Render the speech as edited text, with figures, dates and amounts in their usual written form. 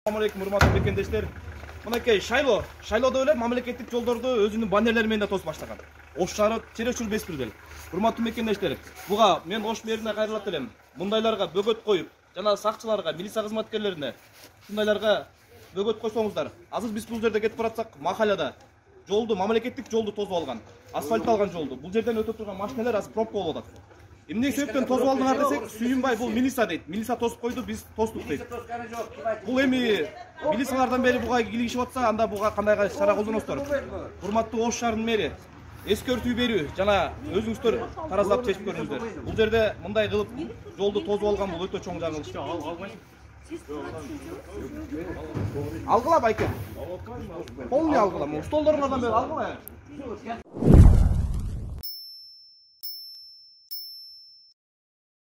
Assalamu alaikum, урматтуу мекендештер. Мынакей шайлоодо эле мамлекеттик жолдорду өзүнүн баннерлери менен да тосуп баштаган. Ош шаары Черешур Беспирдел. Урматтуу мекендештер, буга мен Ош мэрине кайрылат элем. Мындайларга бөгөт коюп, жана сакчыларга, милиция кызматкерлерине ушундайларга бөгөт койсоңуздар. Азыр биз бул жерде кетип баратсак, махаллада жолду, мамлекеттик жолду тосуп алган, асфальтталган жолду. Бул жерден өтүп турган машиналар азыр пробка болуп атат. Эмне себептен тосуп алдыңар десек, Сүйүнбай бул милиция дейт. Милиция тосуп койду, биз тостук дейт. Бул эми милициялардан бери буга килигишип атса, анда буга кандай чара колдоносуздар? Урматтуу Ош шаарынын мэри, эскертүү берүү жана өзүңүздөр тараздап чечип көрүңүздөр. Бул жерде мындай кылып жолду тосуп алган бул өтө чоң жаңылыш. Алгыла байке. Полный алгыла. Столдоруңардан бери алгыла.